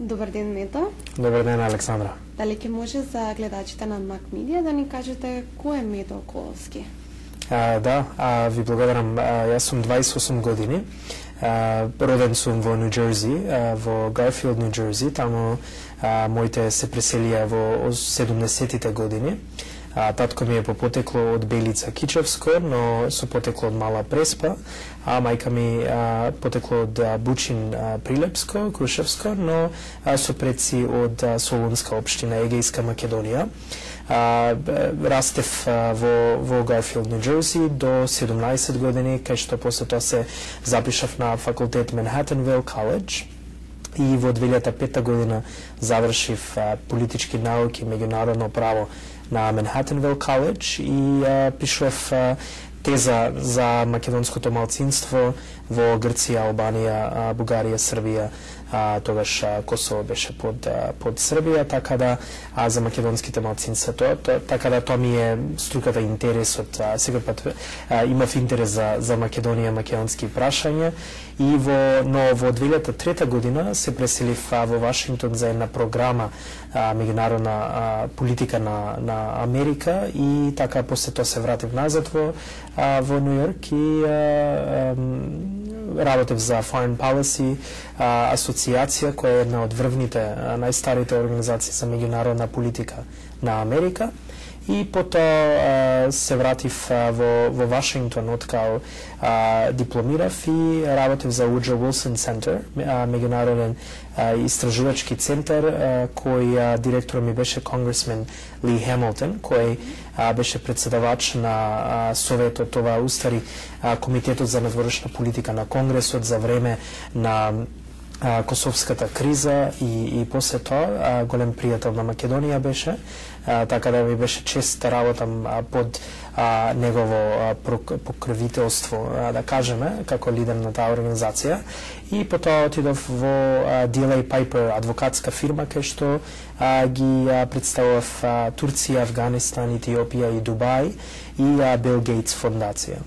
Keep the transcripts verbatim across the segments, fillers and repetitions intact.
Добар ден, Мето. Добар ден, Александра. Дали ќе може за гледачите на Мак Медија да ни кажете кој е Мето Коловски? А, да, а, ви благодарам. А, јас сум дваесет и осум години. А, роден сум во Нью Џерси, а, во Гарфилд, Нью Џерси. Таму а, моите се преселија во седумдесетите години. А, татко ми е по потекло од Белица Кичевско, но со потекло од Мала Преспа, а мајка ми а, потекло од а, Бучин а, Прилепско, Крушевско, но а, со предци од а, Солунска општина, Егејска Македонија. А, растев а, во, во Гарфилд, Нью Џерси до седумнаесет години, кај што после тоа се запишав на факултет Манхатенвил Коледж. И во две илјади и пета година завршив а, политички науки, меѓународно право на Манхатенвил Коледж и а, пишував а, теза за македонското малцинство во Грција, Албанија, а, Бугарија, Србија, а, тогаш а, Косово беше под а, под Србија, така да а, за македонските малцинства тоа, то, така да тоа ми е струката, интересот. А, секој пат а, имав интерес за за Македонија, македонски прашања и во но во две илјади и трета година се преселив а, во Вашингтон за една програма а, меѓународна а, политика на на Америка и така после тоа се вратив назад во а, во Нью Йорк и а, а, работев за Foreign Policy а, асоциација која е една од врвните а, најстарите организации за меѓународна политика на Америка. И потоа се вратив а, во, во Вашингтон откако дипломирав и работев за Woodrow Wilson Center, а, меѓународен а, истражувачки центар, а, кој а, директор ми беше конгресмен Ли Хемилтон, кој а, беше председавач на а, Советот, това устари а, Комитетот за надворешна политика на Конгресот за време на а, Косовската криза и, и после тоа а, голем пријател на Македонија беше, а, така да ми беше чест да работам а, под а, негово а, покровителство, а, да кажеме, како лидер на таа организација. И потоа отидов во а, Ди Ел Ей Пайпер, адвокатска фирма, кај што а, ги а, представував а, Турција, Афганистан, Етиопија и Дубај и а, Бил Гейтс фондација.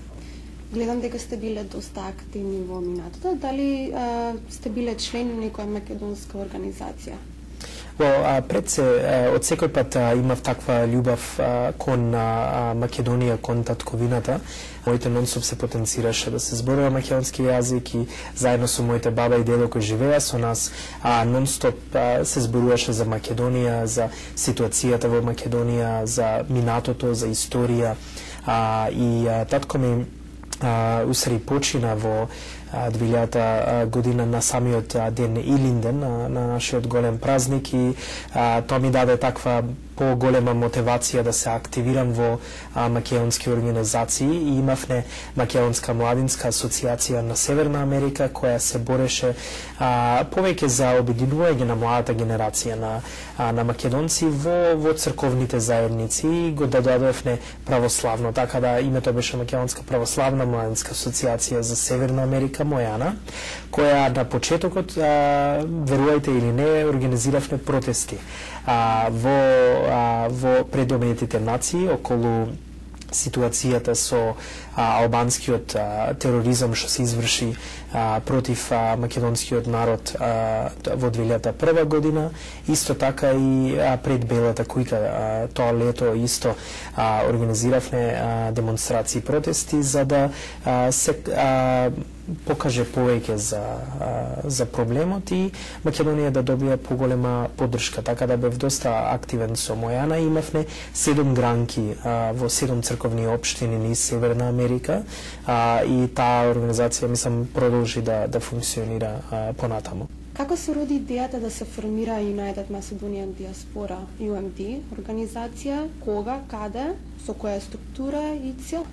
Гледам дека сте биле доста активни во минатото. Дали а, сте биле член на некоја македонска организација? Well, пред се, од секој пат имав таква љубов кон а, Македонија, кон татковината. Моите нонстоп се потенцираше да се зборува македонски јазик и заедно со моите баба и дедо кои живеа со нас, а, нонстоп а, се зборуваше за Македонија, за ситуацијата во Македонија, за минатото, за историја. А, и а, татко ми а, усари почина во две илјадата година на самиот ден Илинден, на, на нашиот голем празник и а, тоа ми даде таква поголема мотивација да се активирам во а, македонски организации и имавме Македонска младинска асоциација на Северна Америка која се бореше а, повеќе за обединување на младата генерација на, а, на македонци во, во црковните заедници и го додадовме православно, така да името беше Македонска православна младинска асоциација за Северна Америка, мојана, која на почетокот, а, верувајте или не, организиравме протести а, во, а, во предобедните нации околу ситуацијата со а, албанскиот а, тероризам што се изврши а, против а, македонскиот народ а, во две илјади и прва година, исто така и а, пред Белата кујка а, тоа лето исто а, организиравме а, демонстрации, протести за да а, се а, покаже повеќе за а, за проблемот и Македонија да добие поголема поддршка, така да бев доста активен со мојана. Имавме седум гранки а, во седум црковни општини низ Северна Америка а, и таа организација мислам продолжи да да функционира а, понатаму. Како се роди идејата да се формира United Macedonian Diaspora Ю Ем Ди организација, кога, каде, со која структура и цел?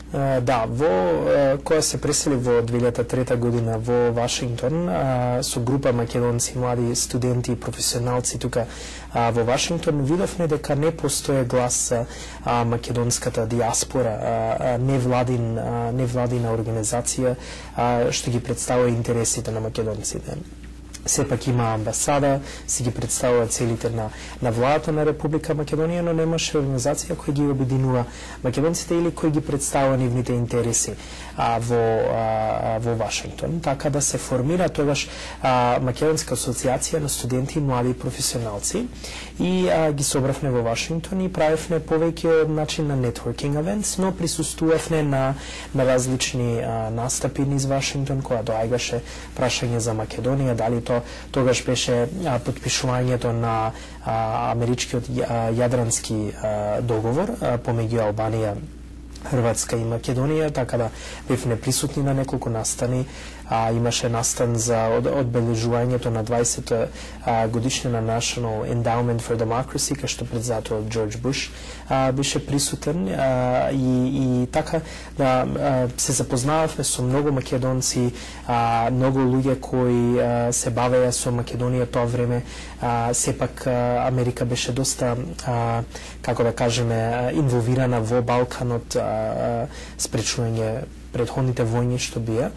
Uh, да, во uh, која се пресели во две илјади и трета година во Вашингтон uh, со група македонци, млади студенти и професионалци тука uh, во Вашингтон, видовме дека не постоje глас за uh, македонската диаспора, uh, невладин, uh, невладина организација uh, што ги представува интересите на македонците. сепак има амбасада, си ги представува целите на, на владата на Република Македонија, но немаше организација која ги обединува македонците или кој ги представува нивните интереси а, во, а, во Вашингтон. Така да се формира тогаш а, Македонска асоциација на студенти и млади професионалци и а, ги собравме во Вашингтон и правевме повеќе од начин на networking events, но присуствувавме на, на различни а, настапи низ Вашингтон, која доаѓаше прашање за Македонија, дали то тогаш беше а, подпишувањето на а, америчкиот а, јадрански а, договор а, помеѓу Албанија, Хрватска и Македонија, така да бевме присутни на неколку настани. А, имаше настан за од, одбележувањето на дваесетта годишнина на National Endowment for Democracy, кај што председател Џорџ Буш а, беше присутен а, и, и така да а, се запознававме со многу македонци, а, многу луѓе кои а, се бавеа со Македонија тоа време. А, сепак а, Америка беше доста, а, како да кажеме, инволвирана во Балканот, а, а, спречување предходните војни што беа,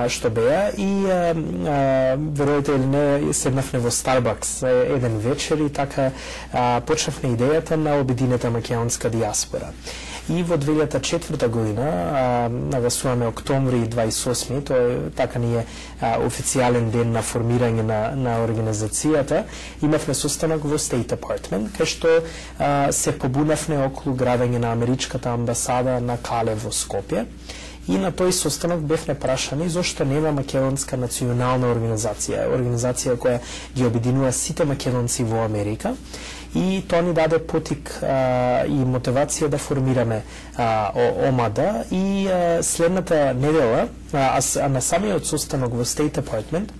што беа и а, а, веројате или не, седнавме во Старбакс еден вечер и така а, почнавме идејата на обединета македонска диаспора. И во две илјади и четврта година, нагласуваме октомври дваесет и осми, тоа е така ни е а, официјален ден на формирање на, на организацијата, имавме состанок во State Department, кај што а, се побунавме околу градење на америчката амбасада на Кале во Скопје. И на тој состанок бевме прашани зошто нема македонска национална организација, организација која ги обединува сите македонци во Америка. И тоа ни даде потик а, и мотивација да формираме а, ОМАДА и а, следната недела, а, а на самиот состанок во State Department,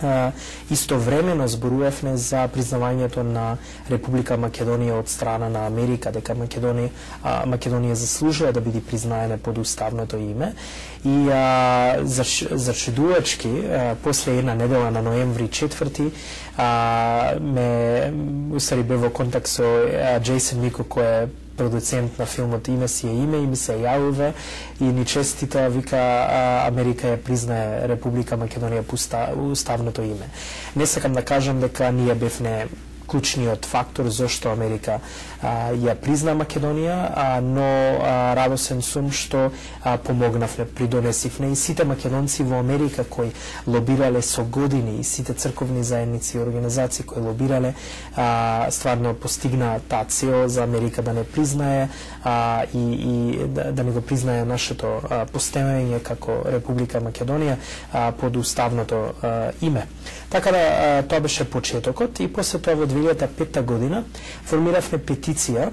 Uh, истовремено зборувавме за признавањето на Република Македонија од страна на Америка, дека Македонија, uh, Македонија заслужува да биде признаена под уставното име. И uh, зачудувачки, uh, после една недела на ноември четврти, uh, ме устари бе во контакт со uh, Джейсон Мико, кој е продуцент на филмот Име си е име и ми се јавува и ни честита, вика а, Америка ја признае Република Македонија по уставното име. Не сакам да кажам дека ние бевме клучниот фактор зошто Америка а, ја призна Македонија, а, но а, радосен сум што а, помогнавме, придонесивме и сите македонци во Америка кои лобирале со години и сите црковни заедници и организации кои лобирале, а, стварно постигна таа цел за Америка да не признае а, и, и да, да не го признае нашето а, постоење како Република Македонија а, под уставното а, име. Така да а, тоа беше почетокот и после тоа во две илјади и петта година формиравме петиција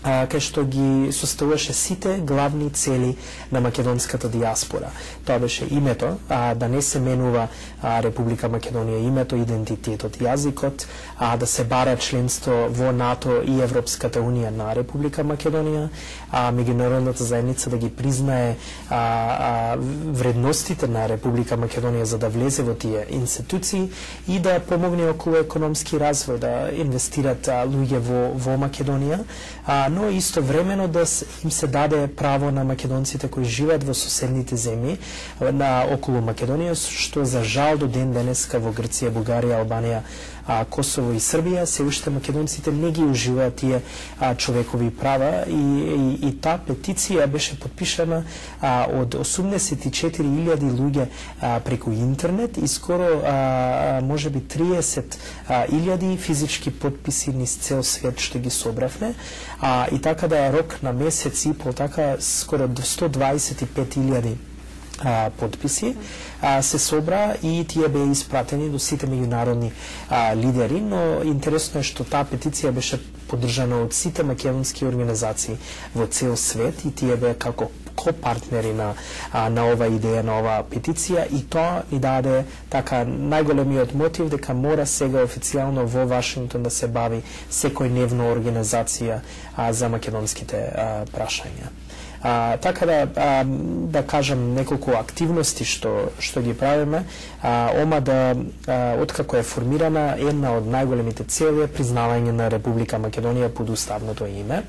а, кај што ги составуваше сите главни цели на македонската диаспора. Тоа беше името, а, да не се менува а, Република Македонија името, идентитетот, јазикот, а да се бара членство во НАТО и Европската унија на Република Македонија, а меѓународната заедница да ги признае а, а, вредностите на Република Македонија за да влезе во тие институции и да помогне околу економски развој, да инвестират а, луѓе во, во Македонија, а, но истовремено да им се даде право на македонците кои живеат во соседните земји на околу Македонија, што за жал до ден денеска во Грција, Бугарија, Албанија, а, Косово и Србија се уште македонците не ги уживаат тие а, човекови права и, и, и таа петиција беше подпишана а, од осумдесет и четири илјади луѓе а, преку интернет и скоро а, може би триесет илјади физички подписи низ цел свет што ги собравме, а, и така да рок на месец и пол, така скоро до сто дваесет и пет илјади А, подписи а, се собра и тие беа испратени до сите меѓународни а, лидери, но интересно е што таа петиција беше поддржана од сите македонски организации во цел свет и тие беа како ко-партнери на, а, на ова идеја, на оваа петиција и тоа ни даде така најголемиот мотив дека мора сега официјално во Вашингтон да се бави секојдневно организација а, за македонските а, прашања. А, така да а, да кажам неколку активности што што ги правиме. А, ОМАДА, откако е формирана, една од најголемите цели е признавање на Република Македонија под уставното име.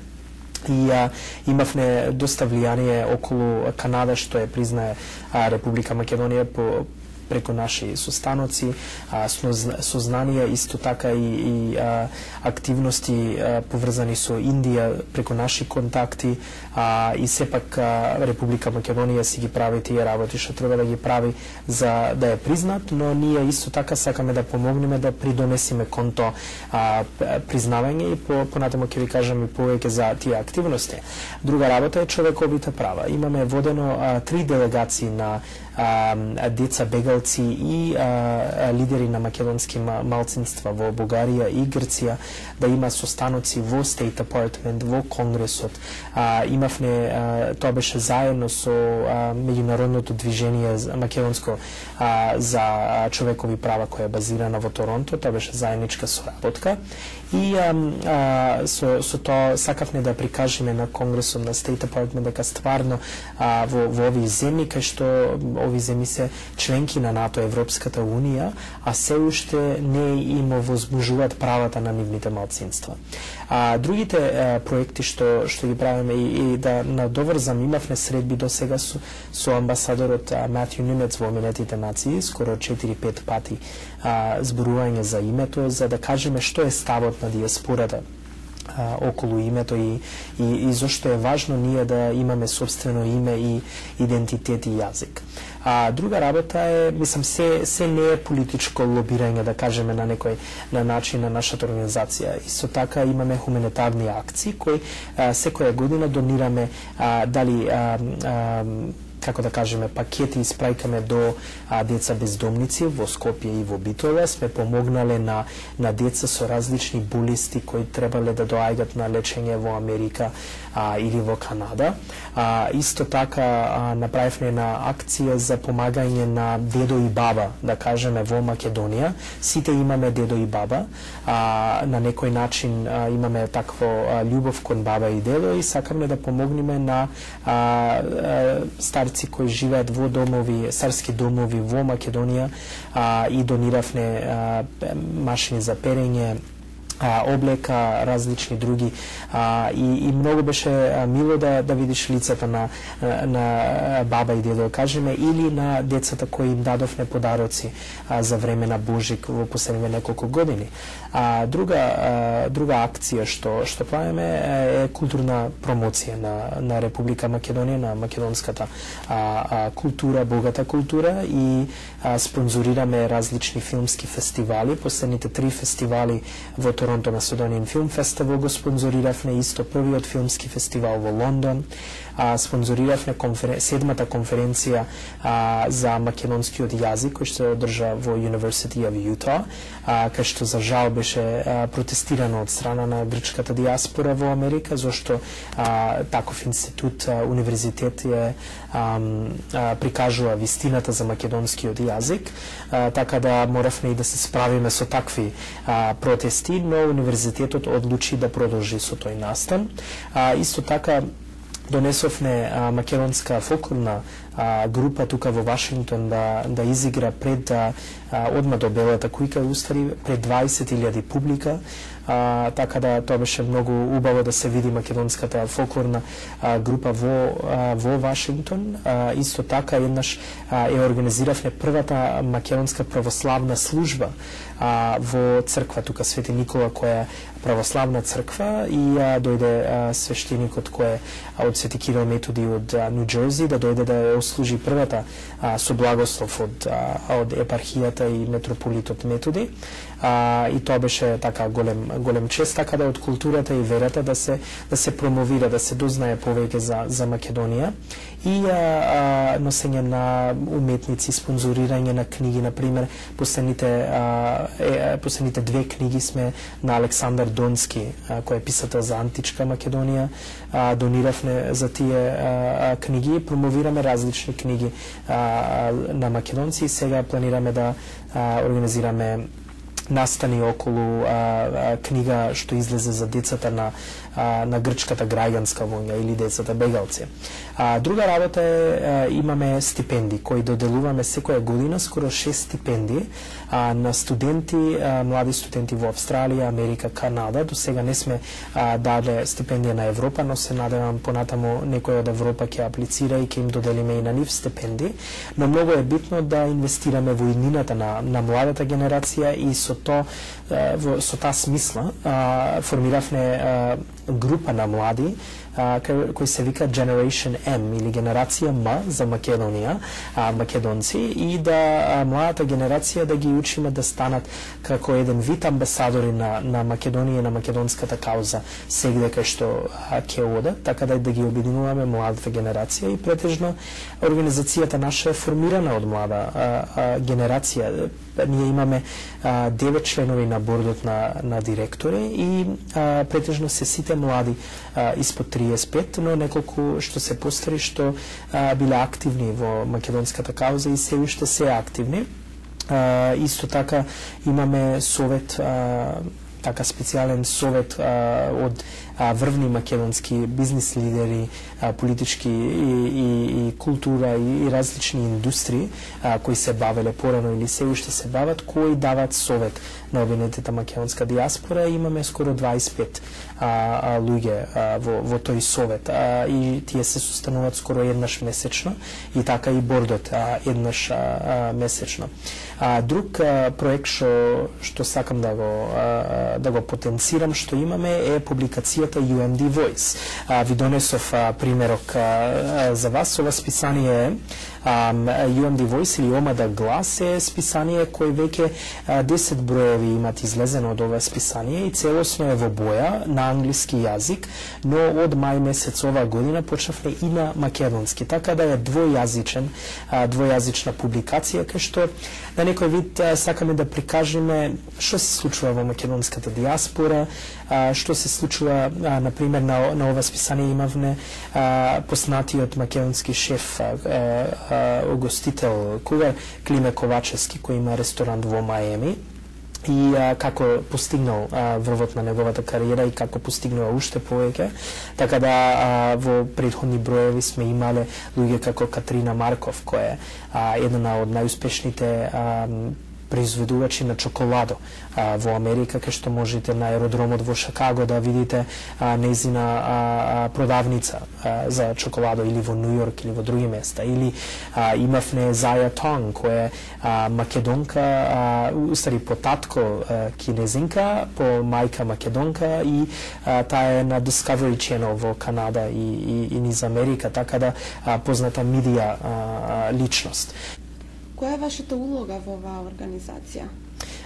И а, имавме доста влијание околу Канада што е признае а, Република Македонија по преку наши состаноци, а, сознанија, исто така и, и а, активности а, поврзани со Индија преку наши контакти, а, и сепак а, Република Македонија си ги прави тие работи што треба да ги прави за да ја признат, но ние исто така сакаме да помогнеме да придонесиме кон тоа а, признавање и по, понатаму ќе ви кажам и повеќе за тие активности. Друга работа е човековите права. Имаме водено а, три делегации на а, деца бегалци и а, лидери на македонски малцинства во Бугарија и Грција да има состаноци во State Department, во Конгресот. А, имавме, а, тоа беше заедно со а, меѓународното движение македонско а, за човекови права која е базирана во Торонто, тоа беше заедничка соработка. И а, а, со, со тоа сакавме да прикажеме на Конгресот, на State Department, дека стварно а, во, во овие земји, кај што овие земји се членки на НАТО, Европската Унија, а се уште не им возбужуваат правата на нивните малцинства. А другите а, проекти што што ги правиме и, и да надоврзам, имавме средби до сега со, со амбасадорот Матју Немец во Обединетите нации, скоро четири-пет пати а, зборување за името, за да кажеме што е ставот на диаспората а, околу името и, и, и зашто е важно ние да имаме собствено име и идентитет и јазик. А друга работа е, мислам, се, се не е политичко лобирање, да кажеме на некој на начин на нашата организација. Исто така имаме хуманитарни акции кои а, секоја година донираме а, дали а, а, како да кажеме, пакети испраќаме до а, деца бездомници во Скопје и во Битола. Сме помогнале на, на деца со различни болести кои требале да доаѓат на лечење во Америка а, или во Канада. А, исто така а, направивме една акција за помагање на дедо и баба, да кажеме, во Македонија. Сите имаме дедо и баба. А, на некој начин а, имаме такво а, љубов кон баба и дедо и сакаме да помогнеме на а, а, старци кои живеат во домови, старски домови во Македонија, а, и дониравме а, машини за перење, а, облека, различни други, а, и, и многу беше а, мило да, да видиш лицата на, на баба и дедо, кажеме, или на децата кои им дадовме подароци а, за време на Божик во последните неколку години. А, друга, а, друга акција што, што правиме е културна промоција на, на Република Македонија, на македонската а, а, култура, богата култура, и а, спонзорираме различни филмски фестивали. Последните три фестивали во Торонто Macedonian Film Festival го спонзориравме, исто првиот филмски фестивал во Лондон. А, спонзориравме конферен... седмата конференција а, за македонскиот јазик кој што се одржа во University of Utah, а, кај што за жал беше а, протестирано од страна на грчката диаспора во Америка, зашто а, таков институт, а, универзитет е а, а, прикажува вистината за македонскиот јазик, а, така да моравме и да се справиме со такви а, протести, но универзитетот одлучи да продолжи со тој настан. А, исто така донесовме а, македонска фолклорна а, група тука во Вашингтон да, да изигра пред а, одма до Белата кујка, устари пред дваесет илјади публика. А, така да тоа беше многу убаво да се види македонската фолклорна а, група во, а, во Вашингтон. А, исто така еднаш а, е организиравме првата македонска православна служба а, во црква тука Свети Никола, која е православна црква, и а, дојде а, свештеникот кој е од Свети Кирил Методи од Нью Џерси да дојде да ја ослужи првата а, со благослов од, а, од епархијата и митрополитот Методи. А, и тоа беше така голем голем чест, така да од културата и верата да се да се промовира, да се дознае повеќе за за Македонија, и а, а, носење на уметници, спонзорирање на книги, на пример последните а, е, последните две книги сме на Александар Донски, а, кој е писател за античка Македонија, а, дониравме за тие а, книги, промовираме различни книги а, на македонци, и сега планираме да а, организираме настани околу а, а, книга што излезе за децата на а, на грчката граѓанска војна или децата бегалци. А, друга работа е а, имаме стипендии кои доделуваме секоја година, скоро шест стипендии а, на студенти, а, млади студенти во Австралија, Америка, Канада. До сега не сме а, даде стипендија на Европа, но се надевам понатаму некој од Европа ќе аплицира и ќе им доделиме и на нив стипендии. Но многу е битно да инвестираме во иднината на, на младата генерација и со то во, со таа смисла а, формиравме а, група на млади а, кој се вика Generation M или генерација М за Македонија, а, македонци, и да а, младата генерација да ги учиме да станат како еден вид амбасадори на, на Македонија и на македонската кауза сегде кај што ќе одат, така да да ги обединуваме младата генерација. И претежно организацијата наша е формирана од млада а, а, генерација. Ние имаме а, девет членови на бордот на, на директори и а, претежно се сите млади а, испод триесет и пет, но неколку што се постари што а, биле активни во македонската кауза и се уште се активни. А, исто така имаме совет, а, така специјален совет а, од а, врвни македонски бизнис лидери, а, политички и, и, и култура и, и различни индустрии а, кои се бавеле порано или се уште се бават, кои дават совет на обвинетата македонска диаспора. Имаме скоро дваесет и пет а, а, луѓе а, во, во тој совет а, и тие се состануваат скоро еднаш месечно и така и бордот а, еднаш а, а, месечно. А, друг а, проект што што сакам да го а, да го потенцирам што имаме е публикацијата ю ем ди Voice. А, ви донесов а, примерок а, за вас. Ова списание е ю ем ди Voice или Омада глас е списание кој веќе десет броеви имат излезено од ова списание и целосно е во боја на англиски јазик, но од мај месец ова година почнавме и на македонски, така да е двојазичен, двојазична публикација кај што на некој вид сакаме да прикажеме што се случува во македонската диаспора, што се случува, на пример, на, на ова списание имавме познатиот македонски шеф, угостител Кугар Климе Ковачевски, кој има ресторант во Маеми, и а, како постигнал а, врвот на неговата кариера и како постигнува уште повеќе. Така да а, во претходни броеви сме имале луѓе како Катрина Марков, која е а, една од најуспешните а, произведувачи на чоколадо а, во Америка, кај што можете на аеродромот во Шикаго да видите а, нејзина а, продавница а, за чоколадо, или во Нью Йорк или во други места. Или а, имавме Зая Тонг, која е а, македонка, а, устари по татко а, кинезинка, по мајка македонка, и а, таа е на Discovery Channel во Канада и, и, и низ Америка, така да а, позната медија а, личност. Која е вашата улога во оваа организација?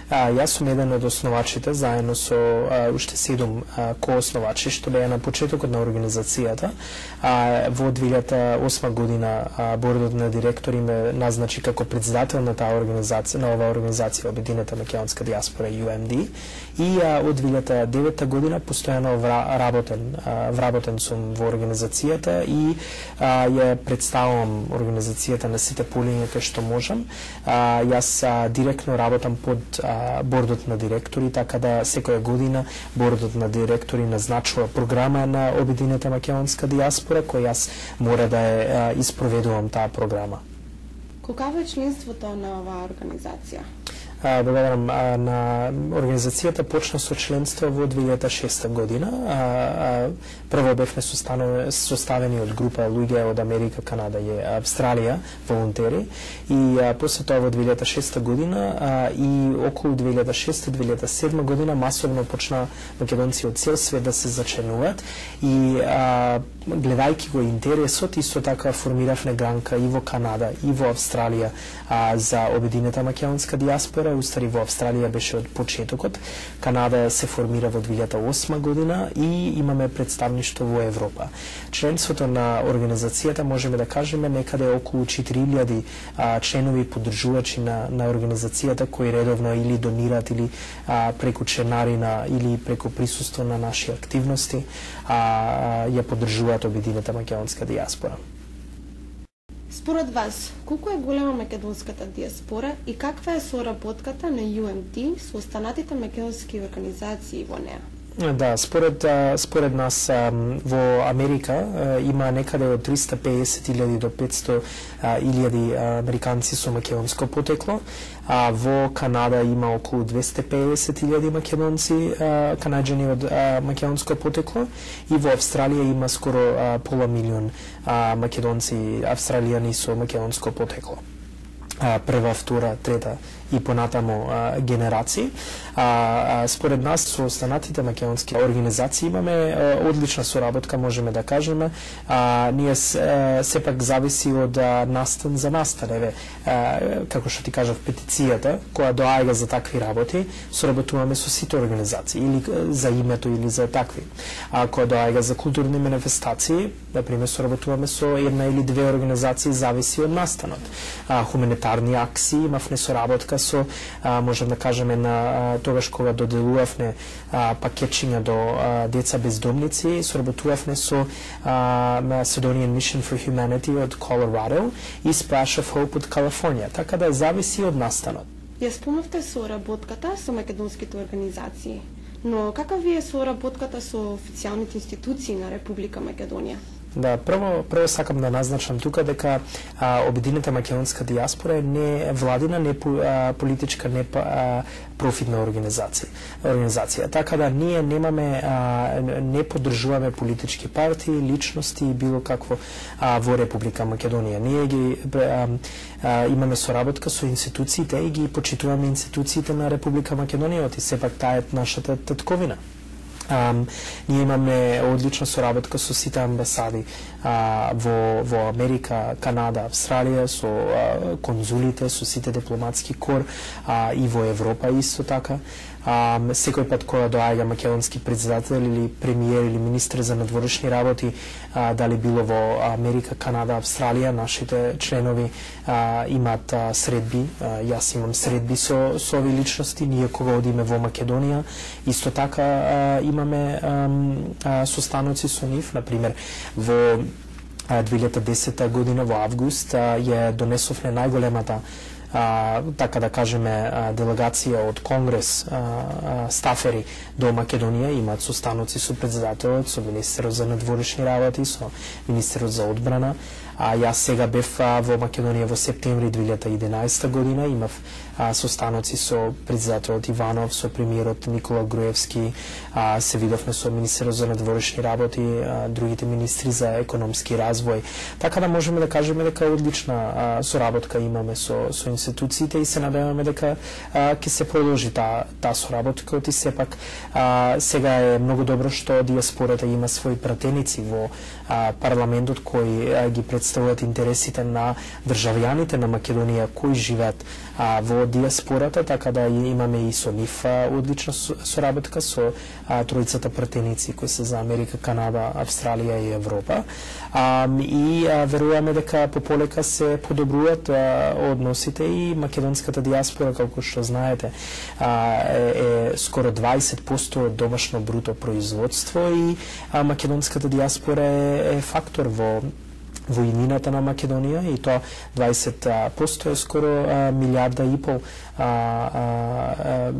А, јас сум еден од основачите, заедно со а, уште седум а, коосновачи, што беа на почетокот на организацијата. А, во две илјади и осма година а, бордот на директори ме назначи како председател на таа организација, на оваа организација Обединета македонска диаспора ю ем ди, и а, од две илјади и девета година постојано вработен, а, вработен сум во организацијата и а, ја представувам организацијата на сите полиња кај што можам. А, јас а, директно работам под а, бордот на директори, така да секоја година бордот на директори назначува програма на Обединета македонска диаспора, која јас мора да ја испроведувам таа програма. Колкаво е членството на оваа организација? Благодарам. На организацијата почна со членство во две илјади и шеста година. Прво бевме составени од група луѓе од Америка, Канада и Австралија, волонтери, и после тоа во две илјади и шеста година и околу две илјади и шеста - две илјади и седма година масовно почна македонци од цел свет да се зачленуваат, и гледајќи го интересот, исто така формиравме гранка и во Канада и во Австралија а, за Обединета македонска диаспора. Устари во Австралија беше од почетокот, Канада се формира во две илјади и осма година и имаме представништво во Европа. Членството на организацијата можеме да кажеме некаде околу четири илјади а, членови поддржувачи на, на организацијата кои редовно или донираат или а, преку членарина или преку присуство на наши активности а, а, ја поддржуваат Обединета македонска диаспора. Според вас, колку е голема македонската диаспора и каква е соработката на ю ем ти со останатите македонски организации во неа? Да, според според нас во Америка има некаде од триста и песет илјади до петсто илјади американци со македонско потекло, а во Канада има околу двесте и песет илјади македонци, канаѓани од македонско потекло, и во Австралија има скоро пола милион македонци, австралијани со македонско потекло. Прва, втора, трета и понатамо а, генерации. А, а, според нас со останатите македонски организации имаме а, одлична соработка, можеме да кажеме. А, ние а, сепак зависи од а, настан за настан. Еве, а, како што ти кажав, петицијата која доаѓа за такви работи, соработуваме со сите организации, или за името или за такви. А која доаѓа за културни манифестации, например, соработуваме со една или две организации, зависи од настанот. А, хуманитарни акции, имавме соработка со, а, можем да кажеме, на а, тогаш кога доделувавме а, пакетчиња до а, деца бездомници, соработувавме со а, Macedonian Mission for Humanity од Colorado и Splash of Hope од Калифорнија, така да зависи од настанот. Ја спомнавте соработката со македонските организации, но каква ви е соработката со официјалните институции на Република Македонија? Да, прво прво сакам да назначам тука дека а, Обединета македонска диаспора е не владина, не а, политичка, не а, профитна организација. Организација. Така да ние немаме а, не поддржуваме политички партии, личности и било какво а, во Република Македонија. Ние ги а, а, имаме соработка со институциите и ги почитуваме институциите на Република Македонија, и сепак таа е нашата татковина. Um, ние имаме одлична соработка со сите амбасади uh, во, во Америка, Канада, Австралија, со uh, конзулите, со сите дипломатски кор uh, и во Европа исто така. Um, секој пат кога доаѓа македонски председател или премиер или министр за надворешни работи, uh, дали било во Америка, Канада, Австралија, нашите членови uh, имаат uh, средби, uh, јас имам средби со, со ови личности, ние кога одиме во Македонија, исто така uh, имаме um, uh, состаноци со нив, например, во uh, две илјади и десета година во август uh, ја донесовме најголемата А, така да кажеме делегација од Конгрес, а, а, стафери до Македонија, имаат состаноци со председателот, со министерот за надворешни работи, со министерот за одбрана. А јас сега бев а, во Македонија во септември две илјади и единаесета година, имав а, состаноци со председателот Иванов, со премиерот Никола Груевски, а, се видовме со министерот за надворешни работи, а, другите министри за економски развој. Така да можеме да кажеме дека одлична а, соработка имаме со, со институциите и се надеваме дека ќе се продолжи таа та соработка, и сепак а, сега е многу добро што диаспората има своји пратеници во а, парламентот кои а, ги представуваат интересите на државјаните на Македонија кои живеат а, во диаспората, така да имаме и со нив а, одлична соработка со а, тројцата пратеници кои се за Америка, Канада, Австралија и Европа. А, и а, веруваме дека пополека се подобруваат а, односите и македонската диаспора, како што знаете, а, е, е скоро дваесет проценти од домашно бруто производство и а, македонската диаспора е, е фактор во во иднината на Македонија, и тоа дваесет проценти е скоро а, милиарда и пол а, а,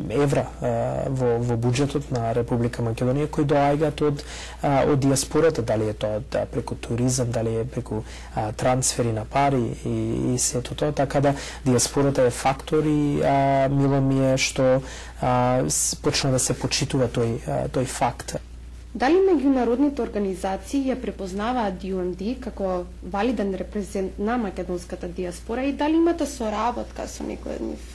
евра а, во, во буџетот на Република Македонија, кои доаѓаат од, а, од диаспората, дали е тоа да, преку туризам, дали е преку а, трансфери на пари и, и сето тоа, така да диаспората е фактор и а, мило ми е што а, почна да се почитува тој, а, тој факт. Дали меѓународните организации ја препознаваат ю ем ти како валиден репрезент на македонската диаспора и дали имате соработка со некој од нив?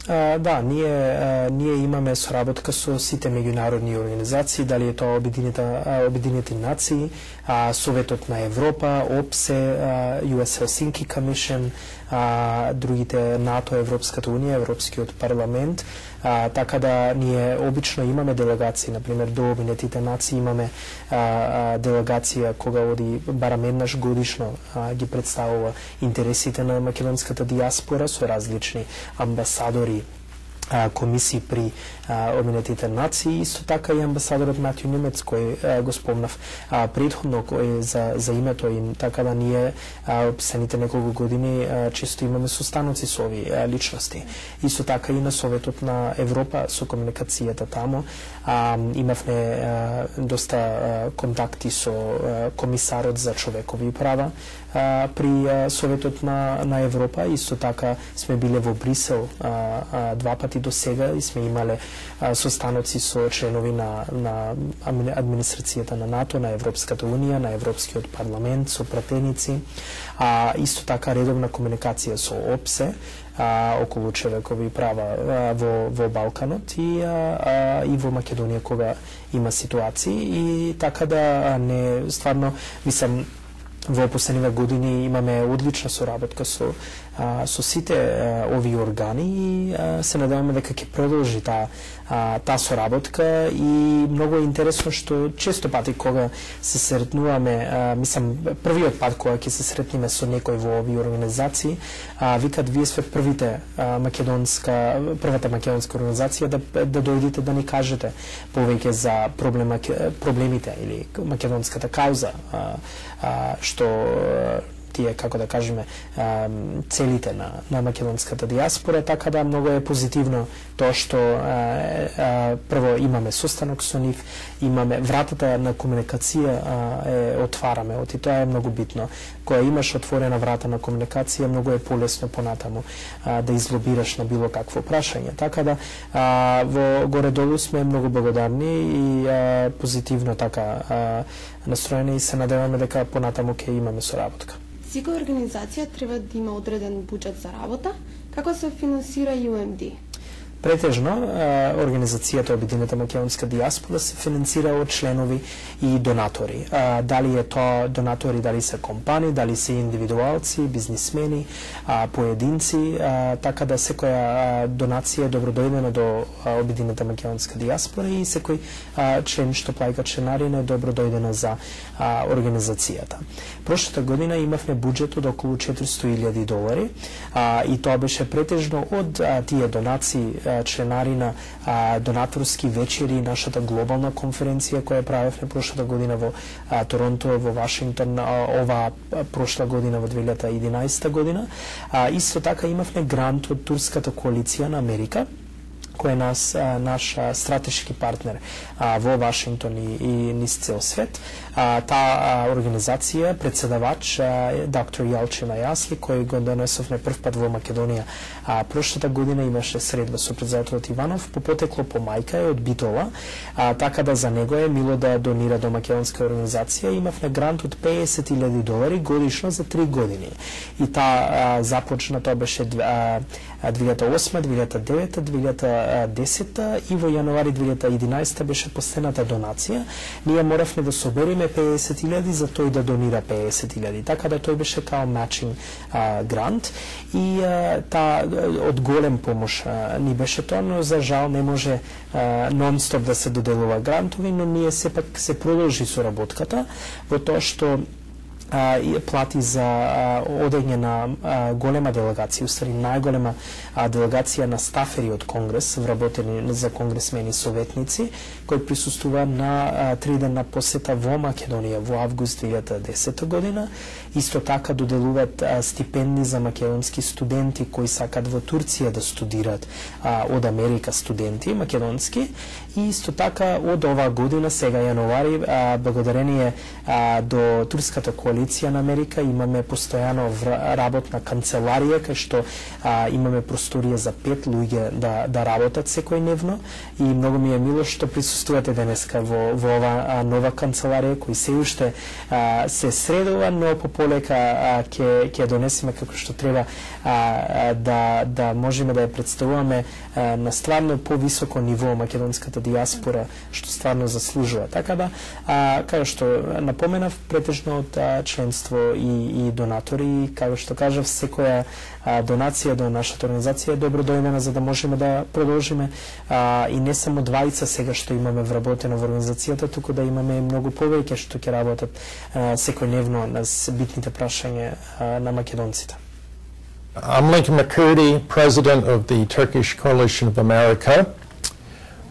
А, да, ние а, ние имаме соработка со сите меѓународни организации, дали е тоа Обединета Обединети нации, а, Советот на Европа, ОПСЕ, ю ес Helsinki Commission, а, другите НАТО, Европската унија, Европскиот парламент. А, така да ние обично имаме делегации, например до Обединетите нации имаме а, а, делегација кога оди барам еднаш годишно, а, ги представува интересите на македонската диаспора со различни амбасадори комисии при Обединетите нации, исто така и амбасадорот Матју Немец кој а, го спомнав а, предходно кој за за името и така да ние описаните неколку години а, често имаме состаноци со овие а, личности. Исто така и на Советот на Европа со комуникацијата таму а, имавме а, доста а, контакти со а, комисарот за човекови права а, при а, Советот на на Европа. Исто така сме биле во Брисел а, а, два пати до сега и сме имале а, состаноци со членови на на администрацијата на НАТО, на Европската унија, на Европскиот парламент, со пратеници, а исто така редовна комуникација со ОПСЕ а, околу човекови права а, во во Балканот и а, а, и во Македонија кога има ситуации и така да не стварно мислам во последниве години имаме одлична соработка со а, со сите а, овие органи и а, се надеваме дека ќе продолжи таа таа соработка и многу е интересно што често пати кога се сретнуваме, а, мислам првиот пат кога ќе се сретнеме со некој во овие организации, а, викат вие сте првите а, македонска првата македонска организација да да дојдете да ни кажете повеќе за проблема проблемите или македонската кауза, а, а, што тие, како да кажеме, целите на, на македонската диаспора, така да многу е позитивно тоа што а, а, прво имаме состанок со нив, имаме вратата на комуникација а, е отвараме, оти тоа е многу битно. Кога имаш отворена врата на комуникација, многу е полесно понатаму а, да излобираш на било какво прашање. Така да а, во горе-долу сме многу благодарни и а, позитивно така а, настроени и се надеваме дека понатаму ќе имаме соработка. Секоја организација треба да има одреден буџет за работа. Како се финансира ю ем ди? Претежно, организацијата Обединета македонска диаспора се финансира од членови и донатори. Дали е тоа донатори, дали се компании, дали се индивидуалци, бизнисмени, поединци, така да секоја донација е добродојдена до Обединета македонска диаспора и секој член што плаќа членарина е добродојдена за организацијата. Прошлата година имавме буџет од околу четиристо илјади долари и тоа беше претежно од тие донации, членарина, донаторски вечери, нашата глобална конференција која правевме прошлата година во Торонто, во Вашингтон, ова прошла година во две илјади и единаесета година. Исто така имавме грант од Турската коалиција на Америка, кој е нас, наш стратешки партнер а, во Вашингтон и, и низ цел свет. А, таа организација, председавач доктор Јалчина Јасли, кој го донесовме прв пат во Македонија а, прошлата година, имаше средба со председателот Иванов, по потекло по мајка е од Битола, а, така да за него е мило да донира до македонска организација. Имавме грант од педесет илјади долари годишно за три години. И таа започна, тоа беше а, две илјади и осма, две илјади и девета, две илјади и десета и во јануари две илјади и единаесета беше последната донација. Ние моравме да собериме педесет илјади за тој да донира педесет илјади. Така да тој беше као матчинг грант и а, та од голем помош а, ни беше тоа, но за жал не може нон-стоп да се доделува грантови, но ние сепак се продолжи соработката во тоа што и плати за одење на голема делегација, устари најголема делегација на стафери од Конгрес, вработени за конгресмени советници, кој присуствува на тридневна посета во Македонија во август две илјади и десета година. Исто така доделуваат стипендии за македонски студенти кои сакат во Турција да студираат од Америка студенти македонски. И исто така од оваа година, сега јануари, благодарение до Турската коалиција на Америка, имаме постојано работна канцеларија кај што а, имаме просторија за пет луѓе да да работат секојдневно и многу ми е мило што присуствувате денеска во во ова нова канцеларија кој се уште а, се средува, но пополека ќе ќе донесеме како што треба а, да да можеме да ја представуваме а, на стварно повисоко ниво македонската диаспора што стварно заслужува. Така да а, како што напоменав, претежно од а, членство и, и донатори, како што кажав, секоја а, донација до нашата организација е добродојдена за да можеме да продолжиме а, и не само двајца сега што имаме вработено во организацијата, туку да имаме многу повеќе што ќе работат а, секојдневно на битните прашања а, на македонците. I'm Lincoln McCurdy, President of the Turkish Coalition of America.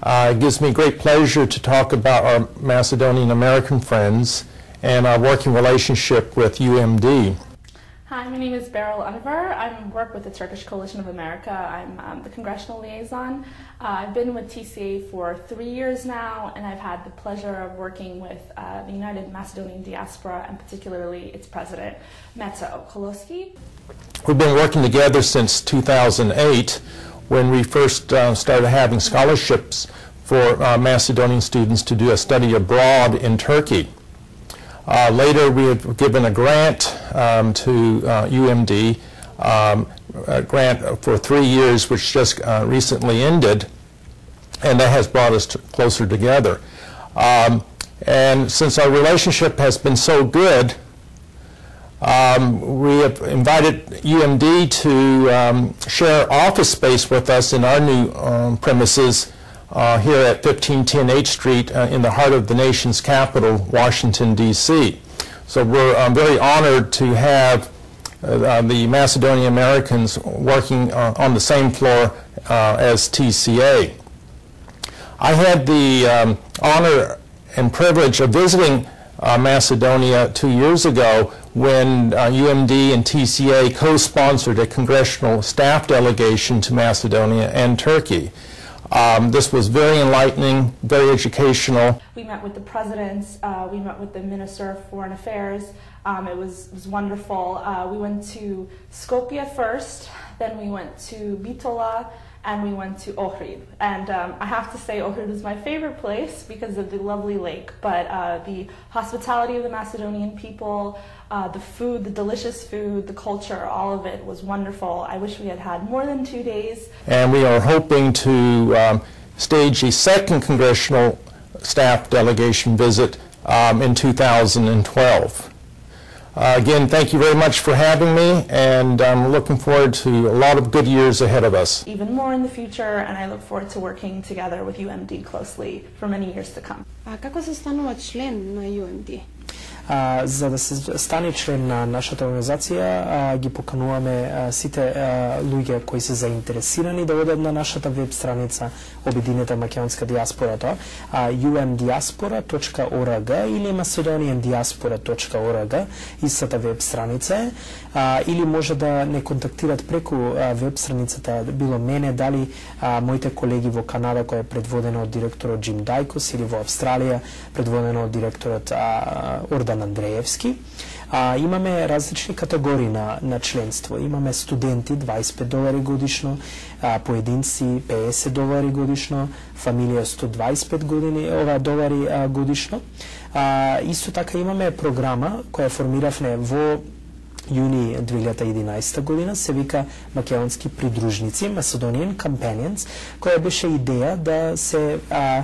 Uh, it gives me great pleasure to talk about our Macedonian American friends and our working relationship with U M D. Hi, my name is Beryl Unver. I work with the Turkish Coalition of America. I'm um, the congressional liaison. Uh, I've been with T C A for three years now, and I've had the pleasure of working with uh, the United Macedonian Diaspora, and particularly its president, Meta Okoloski. We've been working together since two thousand eight, when we first uh, started having scholarships for uh, Macedonian students to do a study abroad in Turkey. Uh, later, we have given a grant um, to uh, U M D, um, a grant for three years, which just uh, recently ended, and that has brought us to closer together. Um, and since our relationship has been so good, um, we have invited U M D to um, share office space with us in our new um, premises Uh, here at fifteen ten H Street uh, in the heart of the nation's capital, Washington, D C So we're um, very honored to have uh, uh, the Macedonian Americans working uh, on the same floor uh, as T C A. I had the um, honor and privilege of visiting uh, Macedonia two years ago when uh, U M D and T C A co-sponsored a congressional staff delegation to Macedonia and Turkey. Um, this was very enlightening, very educational. We met with the presidents, uh, we met with the Minister of Foreign Affairs. Um, it, was, it was wonderful. Uh, we went to Skopje first, then we went to Bitola, and we went to Ohrid. And um, I have to say Ohrid was my favorite place because of the lovely lake, but uh, the hospitality of the Macedonian people, uh, the food, the delicious food, the culture, all of it was wonderful. I wish we had had more than two days. And we are hoping to um, stage a second congressional staff delegation visit um, in two thousand twelve. Uh, again, thank you very much for having me, and I'm looking forward to a lot of good years ahead of us. Even more in the future, and I look forward to working together with U M D closely for many years to come. А како се станува член на U M D? А, за да се стане член на нашата организација, а, ги покануваме а, сите а, луѓе кои се заинтересирани да одат на нашата веб страница Обединета македонска диаспора, ю ем диаспора точка орг или macedonian diaspora точка org, истата веб страница е, а, или може да не контактират преку а, веб страницата, било мене, дали а, моите колеги во Канада, која е предводена од директорот Джим Дайкос, или во Австралија, предводена од директорот а, Ордан Андреевски. А, имаме различни категории на, на членство. Имаме студенти дваесет и пет долари годишно, а, поединци педесет долари годишно, фамилија сто дваесет и пет години, ова долари а, годишно. А, исто така имаме програма која формиравме во јуни две илјади и единаесета година, се вика Македонски придружници, Macedonian Companions, која беше идеја да се а,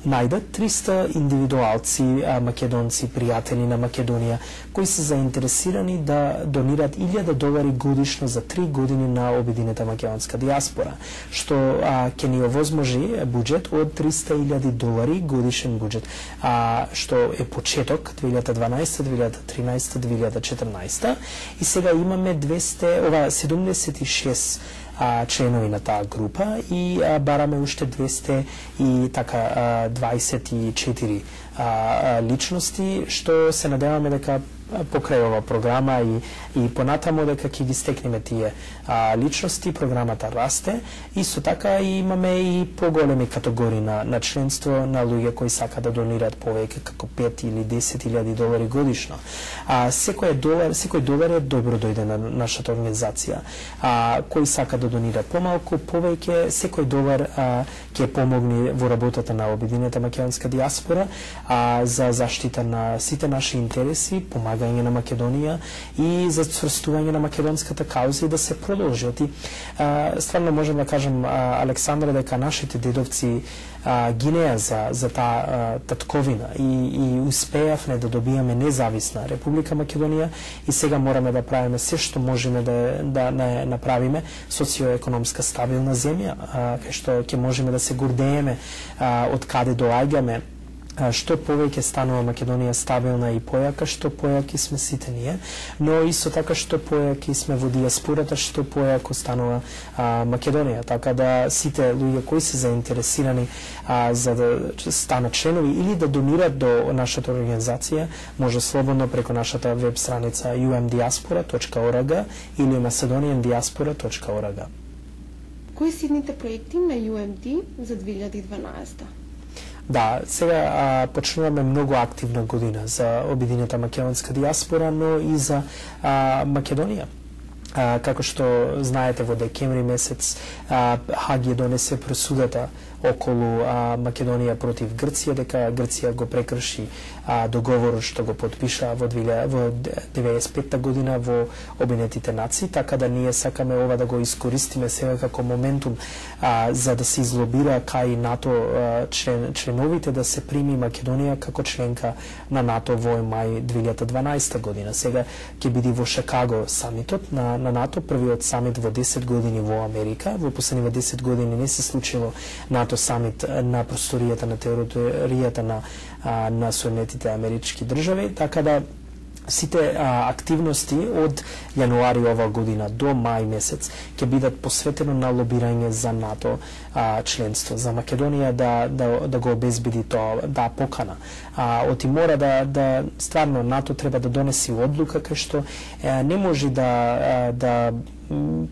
најдат триста индивидуалци, македонци, пријатели на Македонија, кои се заинтересирани да донират илјада долари годишно за три години на Обединета македонска диаспора, што а, ќе ни овозможи буџет од триста илјади долари годишен буџет, а, што е почеток две илјади дванаесета, две илјади тринаесета, две илјади четрнаесета, и сега имаме двесте, ова седумдесет и шест а, членови на таа група и а, бараме уште двесте и така а, дваесет и четири а, а, личности, што се надеваме дека покрај ова програма и, и понатамо дека ќе ги стекнеме тие а, личности, програмата расте. Исто така и имаме и поголеми категории на, на членство на луѓе кои сака да донират повеќе како пет или десет илјади долари годишно. А, секој долар, секој долар е добро дојде на нашата организација. А, кој сака да донира помалку, повеќе, секој долар а, ќе помогне во работата на Обединета македонска диаспора а, за заштита на сите наши интереси, помагање на Македонија и за цврстување на македонската кауза и да се продолжи. И а, стварно можем да кажем, а, Александра, дека нашите дедовци а, гинеа за, за таа татковина и, и успеавме да добијаме независна Република Македонија и сега мораме да правиме се што можеме да, да не направиме социоекономска стабилна земја, а, кај што ќе можеме да се гордееме а, од каде доаѓаме што повеќе станува Македонија стабилна и појака, што појаки сме сите ние, но исто така што појаки сме во диаспората, што појако станува а, Македонија. Така да сите луѓе кои се заинтересирани а, за да станат членови или да донират до нашата организација, може слободно преку нашата веб страница ю ем диаспора точка орг или macedonian diaspora точка орг. Кои се идните проекти на ю ем ди за две илјади и дванаесета? Да, сега а, почнуваме многу активна година за обединета македонска диаспора, но и за а, Македонија. А, како што знаете, во декември месец а, Хаг ја донесе пресудата околу а, Македонија против Грција, дека Грција го прекрши а, договорот што го подпиша во деветдесет и петта година во Обединетите нации, така да ние сакаме ова да го искористиме сега како моментум а, за да се излобира кај НАТО а, член, членовите да се прими Македонија како членка на НАТО во мај две илјади и дванаесета година. Сега ќе биде во Шикаго самитот на, на НАТО, првиот самит во десет години во Америка. Во последниве десет години не се случило НАТО самит на просторијата на територијата на, на Соединетите Амерички држави, така да сите а, активности од јануари ова година до мај месец ќе бидат посветено на лобирање за НАТО а, членство, за Македонија да, да, да го обезбеди тоа, да покана. А, оти мора да, да стварно НАТО треба да донеси одлука кај што е, не може да, а, да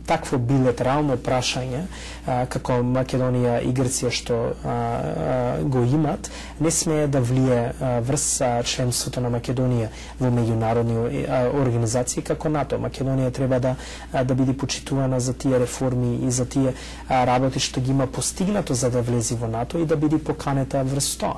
такво билатерално прашање а, како Македонија и Грција што а, а, го имат, не смее да влие а, врз а, членството на Македонија во меѓународни а, организации како НАТО. Македонија треба да а, да биде почитувана за тие реформи и за тие а, работи што ги има постигнато за да влезе во НАТО и да биде поканета врз тоа.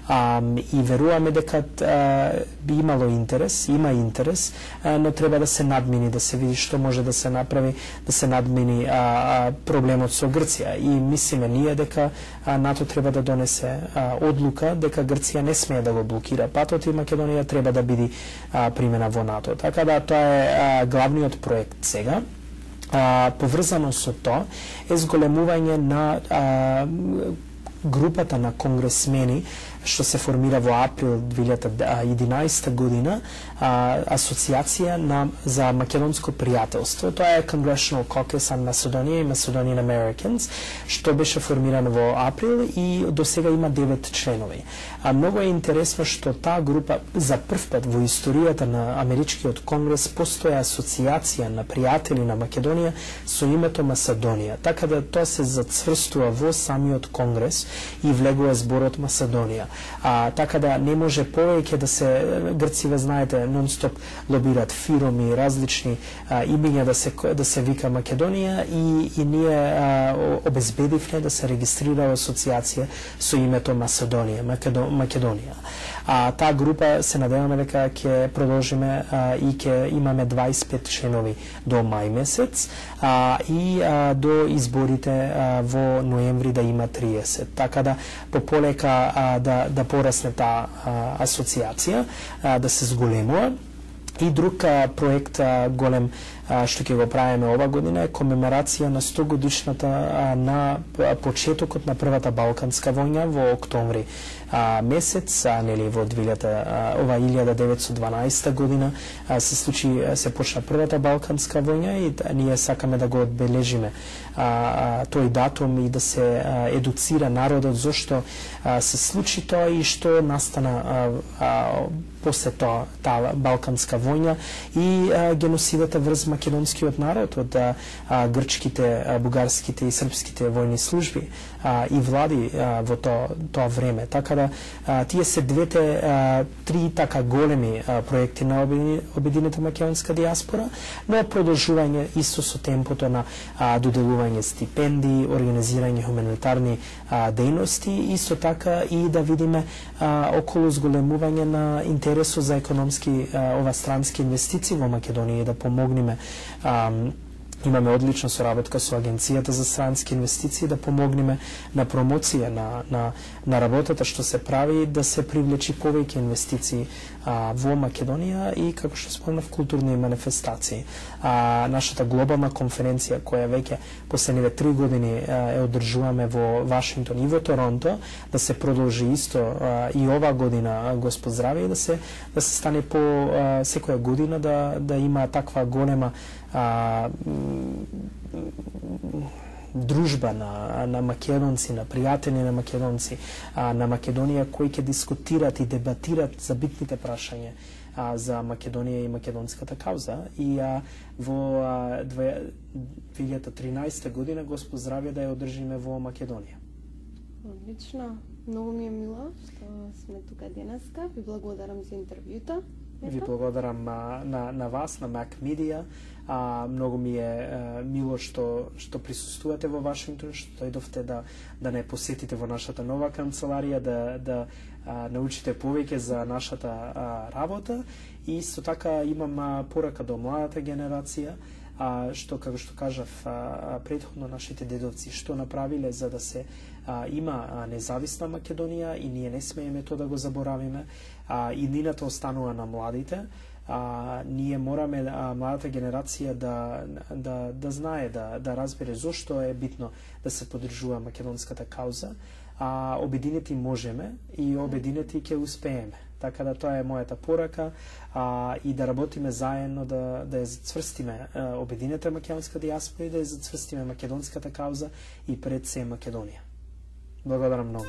А, и веруваме дека а, би имало интерес, има интерес, а, но треба да се надмини, да се види што може да се направи, да се надмини а, а, проблемот со Грција. И мислиме ние дека а, НАТО треба да донесе а, одлука дека Грција не смее да го блокира патот и Македонија треба да биде а, примена во НАТО. Така да тоа е а, главниот проект сега. А, поврзано со тоа е зголемување на а, групата на конгресмени што се формира во април две илјади и единаесета година, а, асоциација на за македонско пријателство. Тоа е Congressional Caucus on Macedonia и Macedonian Americans, што беше формирано во април и до сега има девет членови. А многу е интересно што таа група за прв пат во историјата на Америчкиот конгрес постоја асоциација на пријатели на Македонија со името Macedonија. Така да тоа се зацврстува во самиот конгрес и влегува зборот Macedonија. А, така да не може повеќе да се Грциве, знаете, нон-стоп лобират фироми, различни а, имиња да се да се вика Македонија и и ние а, обезбедивме да се регистрира асоциација со името Macedonија, Македо, Македонија. А таа група се надеваме дека ќе продолжиме а, и ќе имаме дваесет и пет членови до мај месец а, и а, до изборите а, во ноември да има триесет. Така да пополека а, да да порасне таа асоциација, а, да се зголемува. И друг а, проект а, голем а, што ќе го правиме ова година е комеморација на сто годишната а, на почетокот на првата Балканска војна во октомври а, месец, а, нели во ова илјада деветстотини и дванаесета година а, се случи се почна првата Балканска војна и да, ние сакаме да го одбележиме а, а, тој датум и да се а, едуцира народот зошто а, се случи тоа и што настана а, а, после тоа таа Балканска војна и а, геноцидата врз македонскиот народ од а, грчките, а, бугарските и српските војни служби а, и влади а, во тоа, тоа време. Така да а, тие се двете а, три така големи а, проекти на Обединета македонска диаспора, но продолжување исто со темпото на а, доделување стипендии, организирање хуманитарни а, дејности, исто така и да видиме а, околу зголемување на интересот за економски а, ова странски инвестиции во Македонија и да помогнеме а, Имаме одлична соработка со Агенцијата за странски инвестиции да помогнеме на промоција на, на, на работата што се прави, да се привлечи повеќе инвестиции а, во Македонија и, како што спомнав, културни манифестации. А, нашата глобална конференција, која веќе последниве три години а, е одржуваме во Вашингтон и во Торонто, да се продолжи исто а, и ова година, Господ здраве, и да се, да се стане по а, секоја година да, да има таква голема а, дружба на, на македонци, на пријатели на македонци, а, на Македонија, кои ќе дискутират и дебатират за битните прашања а, за Македонија и македонската кауза. И а, во а, две илјади и тринаесета година, Господ здравје, да ја одржиме во Македонија. Одлично. Многу ми е мило што сме тука денеска. Ви благодарам за интервјута. Ви благодарам а, на, на вас, на Mac Media. А, многу ми е а, мило што што присуствувате во Вашингтон, што дојдовте да да не посетите во нашата нова канцеларија, да да а, научите повеќе за нашата а, работа. И исто така имам а, порака до младата генерација, а, што, како што кажав а, претходно, нашите дедовци што направиле за да се а, има а, независна Македонија, и ние не смееме тоа да го заборавиме, а, и нината останува на младите. А, ние мораме а, младата генерација да, да, да знае, да, да разбере зошто е битно да се поддржува македонската кауза. А, обединети можеме и обединети ќе успееме. Така да тоа е мојата порака, а, и да работиме заедно да, да ја зацврстиме а, обединета македонска дијаспора и да ја зацврстиме македонската кауза и пред се Македонија. Благодарам многу.